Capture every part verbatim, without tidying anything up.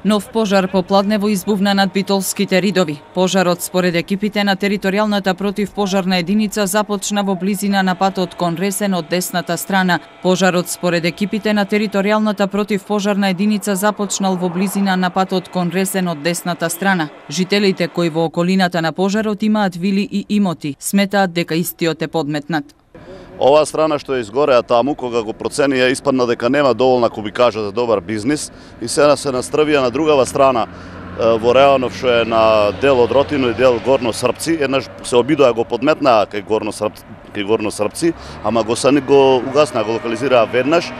Нов пожар попладнево избувна над битолските ридови. Пожарот според екипите на територијалната противпожарна единица започна во близина на патот кон Ресен од десната страна. Пожарот според екипите на територијалната противпожарна единица започнал во близина на патот кон Ресен од десната страна. Жителите кои во околината на пожарот имаат вили и имоти, сметаат дека истиот е подметнат. Оваа страна што е изгореа таму, кога го проценија, испадна дека нема доволна, ако би кажа, за добар бизнис и сега се настравија на другава страна во Реанов, што е на дел од Ротино и дел Горно Српци. Еднаш се обидоа го подметнаа кај Горно Српци, кај Горно Српци, ама го са го угаснаа, го локализираа веднаш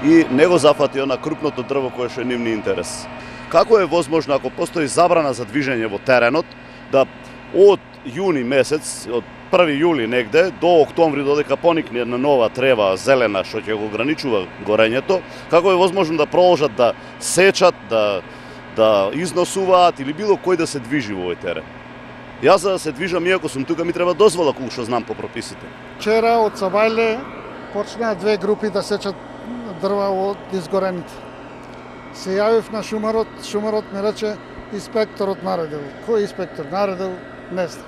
и не го зафати она крупното дрво кое што е нивни интерес. Како е возможно, ако постои забрана за движење во теренот, да од јуни месец, од први јули негде до октомври, додека поникне една нова трева зелена што ќе го ограничува горењето, како е возможно да продолжат да сечат, да да износуваат или било кој да се движи во овој терен? Јас за да се движам, иако сум тука, ми треба дозвола, колку што знам по прописите. Вчера од Сабајле почнаа две групи да сечат дрва од изгорените. Се јавив на шумарот, шумарот ми рече инспекторот наредил. Кој инспектор наредил? Не знам.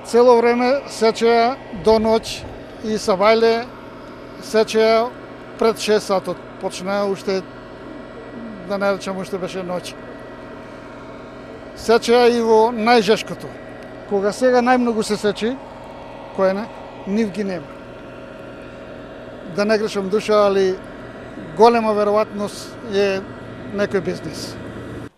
Цело време сечеа до ноќ и Сабајле сечеа пред шест сатот. Почнаа уште, да не речам, уште беше ноќ. Сечеа и во најжешкото. Кога сега најмногу се сечи, кој не, нив ги нема. Да не грешам душа, али голема веројатност е некој бизнис.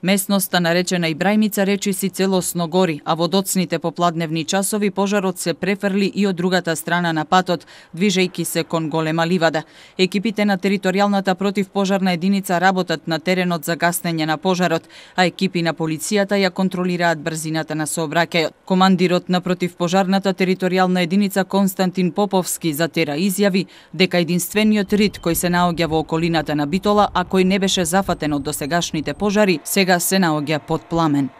Местноста наречена Ибрајмица речиси целосно гори, а во доцните попладневни часови пожарот се префрли и од другата страна на патот, движејќи се кон голема ливада. Екипите на територијалната противпожарна единица работат на теренот за гаснење на пожарот, а екипи на полицијата ја контролираат брзината на сообраќајот. Командирот на противпожарната територијална единица Константин Поповски за Тера изјави дека единствениот рид кој се наоѓа во околината на Битола, а кој не беше зафатен од досегашните пожари, сега се наоѓа под пламен.